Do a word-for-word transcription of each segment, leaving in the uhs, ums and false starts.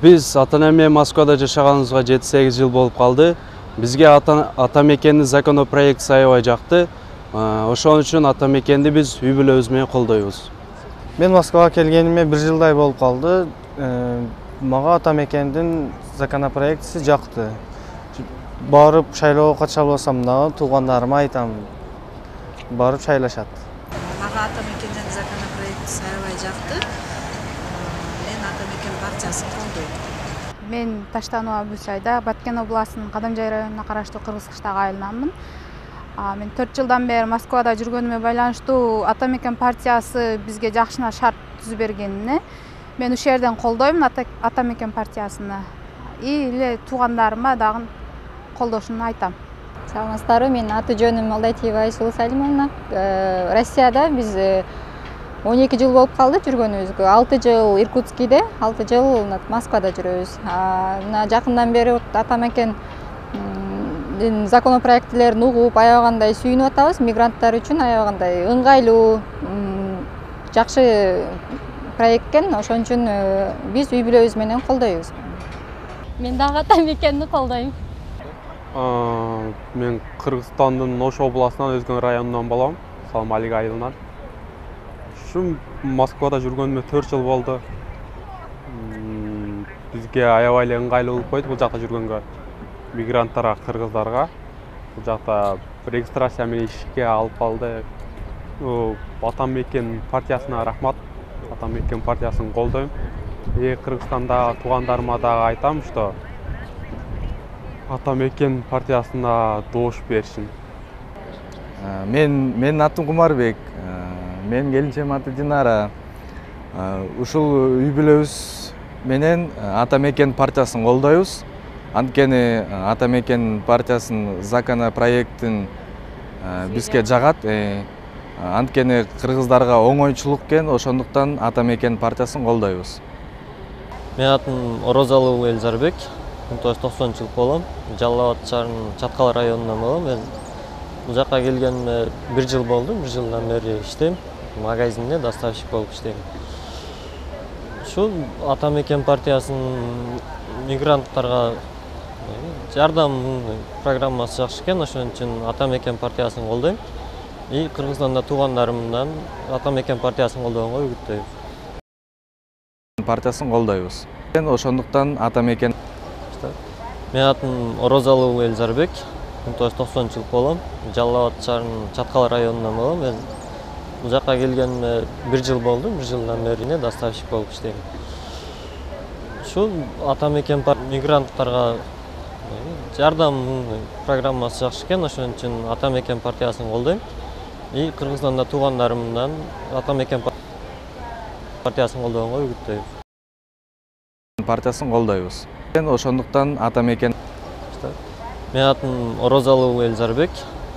Биз ата-энем менен Москвада жашаганыбызга жети сегиз жыл болуп калды. Бизге ата мекендин законопроекти аябай жакты. Ошон үчүн ата мекенди биз үй бүлөбүз менен колдойбуз. Мен Москвага келгениме бир жылдай болуп калды. Мага ата мекендин законопроектиси жакты. Барып шайлоого катыша албасам дагы туугандарыма айтам, барып шайлашат. Мага ата мекендин законопроектиси аябай жакты. Мен ата мекен партиясын колдойм. Мен Таштанова Абусайда, Баткен областынын Кадамжай районуна караштуу Кыргызкыштагы айылынанмын. Мен төрт жылдан бери Москвада жүргөнүмө байланыштуу ата мекен партиясы бизге жакшына шарт түзүп бергенине мен ушул жерден колдойм ата мекен партиясыны. И эле туугандарыма дагы колдошуну айтам. Саламатсыздарбы, менин аты жөнүм Алдайтиева Айсулуу Салимовна. Россияда биз он эки жыл болуп калды жүргөнүбүзгө. алты жыл Иркутскийде, алты жыл Москвада жүрөбүз. Мына жакындан бери ата мекен законопроектилерин угуп, аябагандай сүйүнүп атабыз. Мигранттар үчүн аябагандай ыңгайлуу, жакшы проект экен. Ошон үчүн биз үй бүлөбүз менен колдойбуз. Мен дагы ата мекенди колдойм. Мен Кыргызстандын Ош областынан Өзгөн районунан болом, Салмалик айылынан. Ушул Москвада жүргөнүмө төрт жыл болду. Бизге аябай эле ыңгайлуу болуп койду бул жакта жүргөнгө. Мигранттарга, кыргыздарга бул жакта регистрация менен ишке алып калды. Ата мекен партиясына рахмат. Ата мекен партиясын колдойм. И Кыргызстанда туугандарыма дагы айтам, что ата мекен партиясына добуш беришин. Мен менин атым Кумарбек. Менин келинчегим аты Динара. Ушул үй бүлөбүз менен ата мекен партиясын колдойбуз. Анткени ата мекен партиясынын законопроектин бизге жагат. Анткени кыргыздарга оңойчулук экен, ошондуктан ата мекен партиясын колдойбуз. Менин атым Орозалуу Элзарбек. миң тогуз жүз токсонунчу жыл болом. Жалал Абад шаарынын Чаткал районунан болом. Мен бул жака келгениме бир жыл болду. бир жылдан бери иштейм. Магазинде доставщик болуп иштейм. Ушул ата мекен партиясынын мигранттарга жардам программасы жакшы экен. Ошон үчүн ата мекен партиясын колдойм. И Кыргызстанда туугандарымдан ата мекен партиясын колдогонго үгүттөйм. Партиясын колдойбуз. Ошондуктан ата мекен. Менин атым Орозалуу Элзарбек. миң тогуз жүз токсонунчу жыл болом. Жалал Абад шаарынын Чаткал районунан болом. Мен бул жака келгениме бир жыл болду. бир жылдан бери доставщик болуп иштейм. Ушул ата мекен мигранттарга жардам программасы жакшы экен. Ошон үчүн ата мекен партиясын колдойм. И Кыргызстанда туугандарымдан ата мекен партиясын колдогонго үгүттөйм. Партиясын колдойбуз. Ошондуктан ата мекен. Менин атым Орозалуу Элзарбек.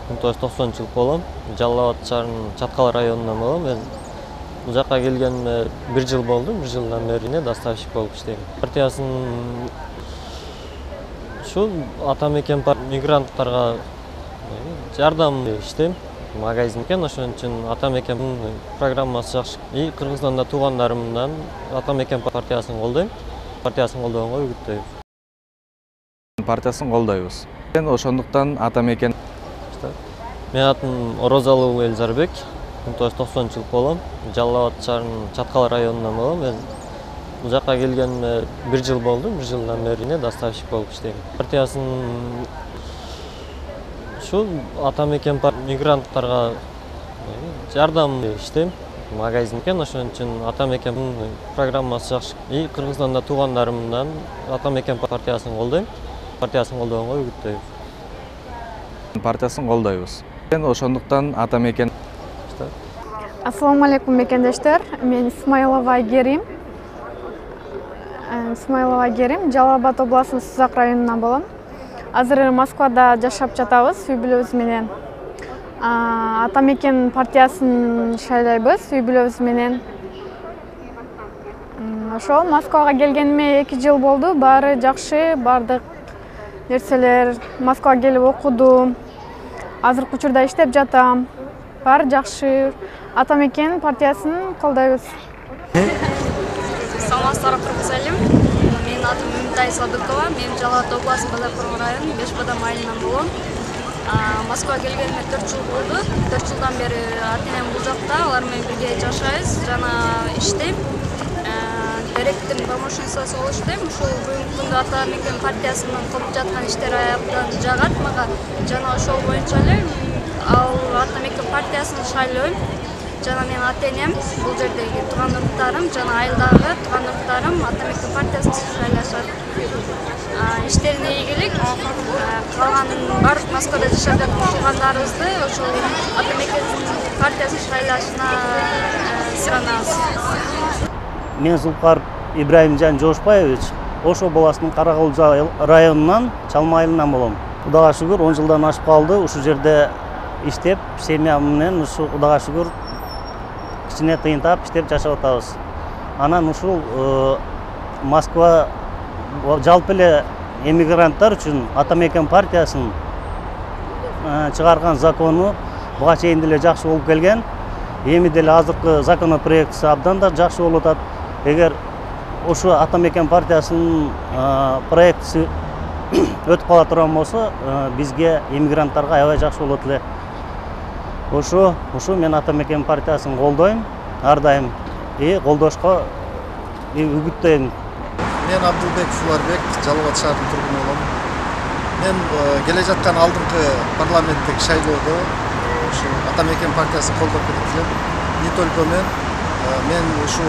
миң тогуз жүз токсонунчу жыл болом. Жалал Абад шаарынын Чаткал районунан болом. Мен бул жака келгениме бир жыл болду. бир жылдан бери доставщик болуп иштейм. Партиясын ушул ата мекен мигранттарга жардам иштейм. Магазин экен, ошон үчүн ата мекен программасы жакшы. И Кыргызстанда туугандарымдан ата мекен партиясын колдойм. Партиясын колдогонго үгүттөйм. Партиясын колдойбуз. Ошондуктан ата мекен. Менин атым Орозалуу Элзарбек. миң тогуз жүз токсонунчу жыл болом. Жалал Абад шаарынын Чаткал районунан болом. Мен бул жака келгениме бир жыл болду. бир жылдан бери доставщик болуп иштейм. Партиясын ушул ата мекен мигранттарга жардам иштейм. Магазин экен, ошон үчүн ата мекен программасы жакшы. И Кыргызстанда туугандарымдан ата мекен партиясын колдойм. Партиясын колдогонго үгүттөйм. Партиясын колдойбуз. Ошондуктан ата мекен. Ассаламу алейкум мекендештер. Мен Исмаилова Айгерим. Исмаилова Айгерим, Жалал Абад областынын Сузак районунан болом. Азыр Москвада жашап жатабыз үй бүлөбүз менен. Ата мекен партиясын шайлайбыз үй бүлөбүз менен. Ошол Москвага келгениме эки жыл болду. Баары жакшы, бардык нерселер. Москвага келип окудум. Азыркы учурда иштеп жатам. Баары жакшы. Ата мекен партиясын колдойбуз. Саламатсыздарбы, кыргыз элим. Менин атым Нитай Садыкова, мен Жалал Абад областы Базаркулов району Бешбадам айылынан болом. Москвага келгениме төрт жыл болду. төрт жылдан бери ата-энем бул жакта, алар менен бирге жашайбыз, жана иштейм. Директордун помощницасы болуп иштейм. Ушул бүгүнкү күндө Атамекен партиясынын кылып жаткан иштери аябдан жагат мага. Жана ошол боюнча эле ал Атамекен партиясын шайлойм. Жана менин ата-энем, бул жердеги туугандыктарым, жана айылдагы туугандыктарым Атамекен партиясын шайлашат. Иштерине ийгилик. Калган бардык Москвада жашап жаткан туугандарыбызды ошол Атамекен партиясын шайлашына суранабыз. Мен Зулпар Ибраимжан Жошпаевич, Ош областынын Каракулжа районунан Чалма айылынан болом. Кудайга шүгүр он жылдан ашып калды. Ушул жерде иштеп, семья менен ушу Кудайга шүгүр кичине тыйынтап иштеп жашап атабыз. Анан ушул Москва жалпы эле эмигранттар үчүн Атамекен партиясынын чыгарган закону буга чейин деле жакшы болуп келген. Эми деле азыркы законопроектisi абдан да жакшы болуп атат. Эгер ошо Атамекен партиясынын проектisi өтүп кала турган болсо, бизге эмигранттарга аябай жакшы болот эле. Ошо, ошо мен Атамекен партиясын колдойм, ар дайым и колдошко үгүттөйм. Мен Абдулбеков Уларбек, Жалал Абад шаарынын тургуну болом. Мен келе жаткан алдыңкы парламенттик шайлоодо ушу Атамекен партиясын колдоп келем. Не только мен, мен ушу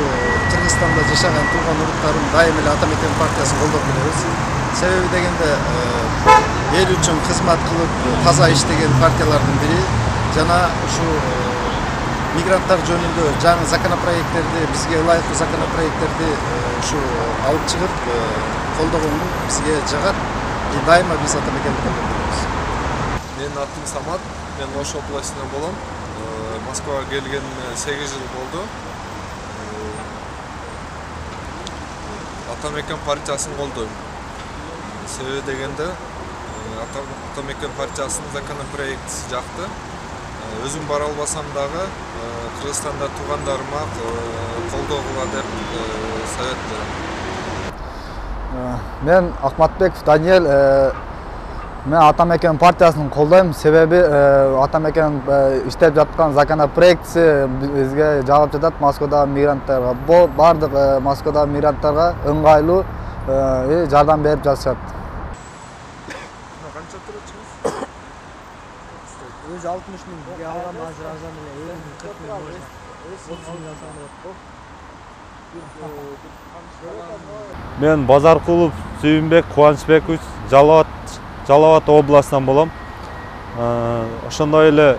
Кыргызстанда жашаган тууган уруктарым дайым эле Атамекен партиясын колдоп келебиз. Себеби дегенде эл үчүн кызмат кылып, таза иштеген партиялардын бири. Жана ушу мигранттар жөнүндө жаңы законопроекттерди, бизге ылайыктуу законопроекттерди ушу алып чыгып, колдогону бизге жагат. И дайыма биз Атамекенди колдоп келебиз. Менин атым Самат, мен Ош областынан болом. Москвага келгениме сегиз жыл болду. Атамекен партиясын колдойм. Себеби дегенде Атамекен партиясынын законопроектisi жакты. Өзүм бара албасам дагы Кыргызстанда туугандарыма колдогула деп совет берем. Мен Акматбеков Даниэль, мен Атамекен партиясын колдойм. Себеби Атамекен иштеп жаткан законопроектisi бизге жагып жатат Москвадагы мигранттарга. Бардык Москвадагы мигранттарга ыңгайлуу жардам берип жатышат. Өзү алтымыш миң алган азыр арзан эле элүү миң кырк миң отуз миң салынат. Мен Базаркулов Сүйүнбек Кубанычбекович, Жалал Абад областынан болом. Ошондой эле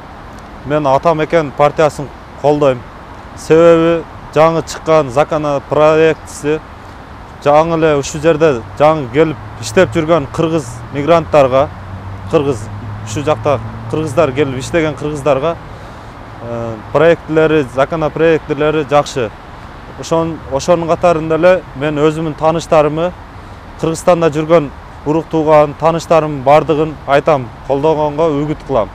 мен Атамекен партиясын колдойм. Себеби жаңы чыккан законопроектisi жаңы эле ушул жерде жаңы келип иштеп жүргөн кыргыз мигранттарга, кыргыз ушул жакта кыргыздар келип иштеген кыргыздарга проектлери, законопроектлери жакшы. Ошонун катарында эле мен өзүмдүн тааныштарымы, Кыргызстанда жүргөн урук тууган тааныштарым бардыгын айтам, колдогонго үгүт кылам.